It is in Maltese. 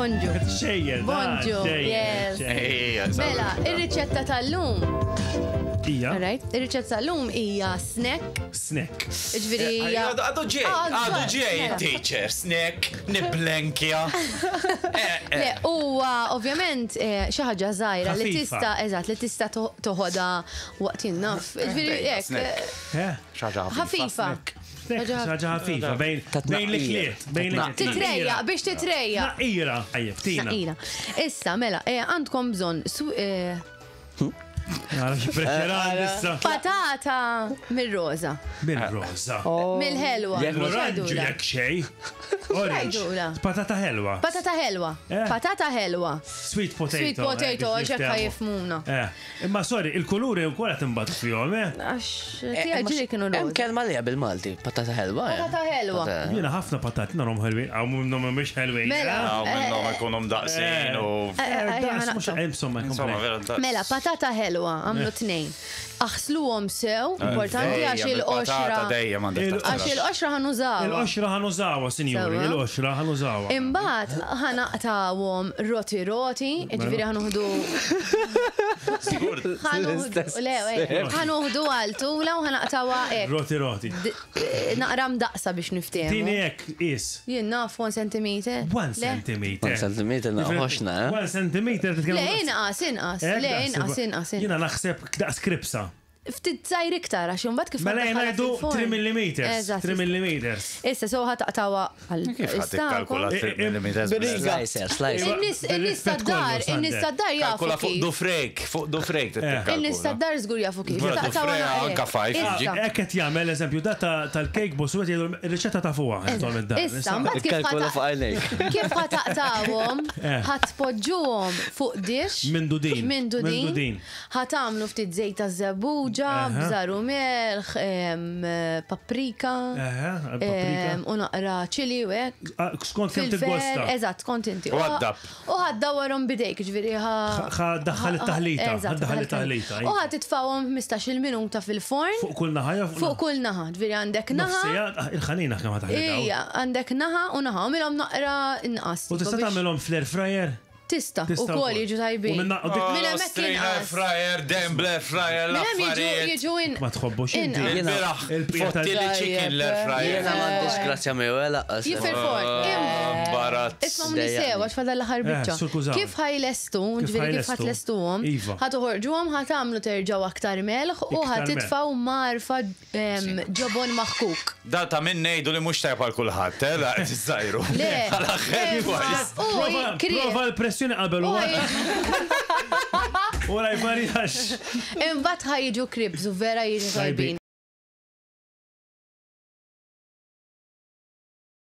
Bonġu. Xejjer. Bonġu, yes. Mela, ir-riċetta tal-lum. Ija. Alright, ir-riċetta tal-lum hija snack. Snack. Ġifieri hija. Għadu ġej, Ah, għadu ġej, mela. teacher, snack, niblenkja. Le, huwa ovvjament eh, xi ħaġa żgħira li Ħafifa. tista' eżatt li tista' to- toħodha waqt jinnaf. Ġifieri Dejja, hekk. snack. eh, Eh? ħaġa Ħafifa. Snack, ħaġa ħafifa. Bejn bejn l-ikliet. Bejn l-ikliet. Titrejja, biex titrejja. Naqira. Ajjeb, tina. Naqira. Issa, mela, eh, għandkom bżonn su- eh, Nara xi pressure issa. patata mir-roża, Bil-roża. mill-ħelwa. L-oranġu X'għidula? jekk xej. Orange. X'għidula? Patata ħelwa. Patata ħelwa. Eh. Patata ħelwa. Sweet potato. Sweet potato, eh, biex ċekka niftehmu. jifmuna. Eh, imma sorry, il-kuluri u kolla timbatu fihom, eh? Għax, tiegħi ġili kienu Hemm roża. kelma li bil-Malti, patata ħelwa. eh? Patata ħelwa. Jiena ħafna patati narhom ħelwin, għaw minnhom mhumiex ħelwin. Mela. Għaw minnom ikunum daqsin u. Eh, eh, Daqs eh, mhux ħanaqta. insomma, Insomma, kompli. vera daqs. Mela, patata ħelwa, għamlu tnejn. Aħsluhom sew, importanti Dejjem, għax il-qoxra. il-patata dejjem għandek Il- Għax taħsel. il-qoxra ħanużawha. Il-qoxra ħanużawha, sinjuri, Sewa. il-qoxra ħanużawha. Imbagħad ħanaqtawhom roti roti, ġifieri ħanuħdu ħanuħdu le, eh, ħanuħdu għal tula u ħanaqtawha hekk. Roti roti. D- eh, Naqra mdaqsa biex Tini niftehmu. hekk is. Jien naf 1 centimeter. 1 Le. centimeter. One centimeter naqħoxna, eh? 1 centimeter titkellem. Le, inqas, inqas, Hekk le, daqs- inqas, inqas. inqas. Jiena naħseb daqs kripsa. Ftit żgħir iktar għax imbagħad kif Mela ħandaħħalha jgħidu fil-forn. 3 millimeters. Eżatt. 3 millimeters. Issa so ħataqtawa għal Kif ħad tikkalkula Eh, eh, 3 mm? Slicer, slicer. In-nies in-nies Bil-rispett tad-dar, kollu, Sander. in-nies tad-dar jafu Kalkula fuq kif. dufrejk, fuq dufrejk Eh. In-nies tad-dar żgur jafu kif. Vera, Taqtawha dufrejk naqra. anka five, Issa. jiġi. Hekk qed jagħmel eżempju da ta- tal-cake boss u qed jgħidu r-riċetta ta' fuqha intom id-dar. Issa, mbagħad kif Ikkalkula ħata- fuq għajnejk. Kif ħataqtawhom, Eh. ħatpoġġuhom fuq dish. Minn dudin. Minn Minn dudin. dudin. Ħatamlu ftit żejt ta' żebbuġa, Aha. bżar u melħ, em, paprika. Eħe, paprika. em, U naqra ċili u hekk. Ah, Skont kemm Fil-fer, tiggosta. eżatt, kont inti. U għaddab. U ħaddawwarhom bidejk, ġifieri ħa. Ħa daħħal it-taħlita, Eżatt, ħa daħħal it-taħlita, U ħa titfawhom 15-il minuta fil-forn. Fuq kull naħa jew Fuq kull naħa, ġifieri għandek naħa. Nofsija, ah, il-ħanina kemm ħataħlita. Ija, għandek naħa u naħa, u milhom naqra inqas. U tipo tista' biex- tagħmelhom fl-air fryer? Tista, u Tista' kol wkoll. jiġu tajbin. U minna- u dik- Minn hemmhekk inqas. fryer, dem blair fryer, Minn hemm jiġu l-affarijiet. jiġu in. Ma tħobbux inti. Inqas. Il-biraħ, Il-bqija tal- fottili chicken l-air fryer. Jiena m'għandix grazzja miegħu eh, laqqas. Jif il-forn. Barat. Isma' mni sew, għax fadal l-aħħar Eh, biċċa. sur kużaw. Kif ħajlestu, ġifieri kif ħajlestu. ħatlestuhom, Iva. ħatoħorġuhom, ħatamlu terġgħu aktar melħ u Iktar melħ. ħatitfgħu marfa em, ġobon maħkuk. Da ta' minn ngħidu li mhux tajb għal kulħadd, eh, la qed iżżajru. Le. Għal aħħar Imma- wise. U Prova kri- prova l-pressjoni qabel u u ħaj- wara jvarjax. Imbagħad ħajġu kribs u vera jiġu Tajbin. tajbin.